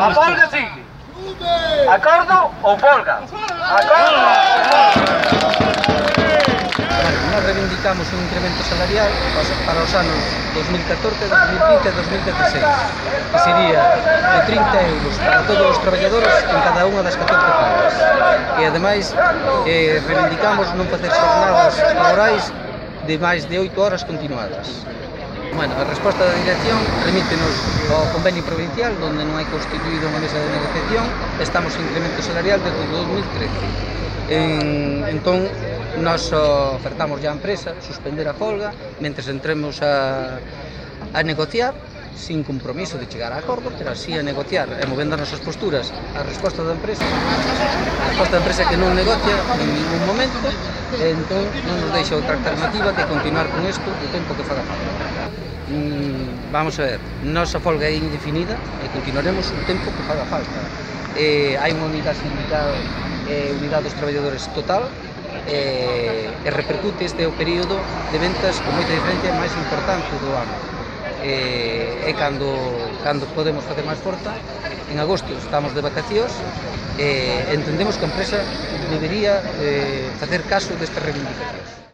A folga sigue. Acordo ou folga? Acordo! Nós reivindicamos un incremento salarial para os anos 2014, 2015 e 2016, que sería de 30 euros para todos os traballadores en cada unha das 14 pagas. E, ademais, reivindicamos non facer xornadas laborais de máis de 8 horas continuadas. Bueno, a resposta da dirección remítenos ao convenio provincial, onde non hai constituído unha mesa de negociación, estamos en incremento salarial desde o 2013. Entón, nós ofertamos á empresa suspender a folga, mentres entremos a negociar, sin compromiso de chegar a acordo, pero así a negociar e movendo as nosas posturas. A resposta da empresa é que non negocia en ningún momento, e entón non nos deixa outra alternativa que continuar con isto o tempo que faga falta. Vamos a ver, nosa folga é indefinida e continuaremos o tempo que faga falta. Hai unha unidade sindical, unidade dos traballadores total, e repercute este o período de ventas con moita diferencia máis importante do ano. É cando podemos facer máis forza. En agosto estamos de vacacións e entendemos que a empresa debería facer caso destas reivindicacións.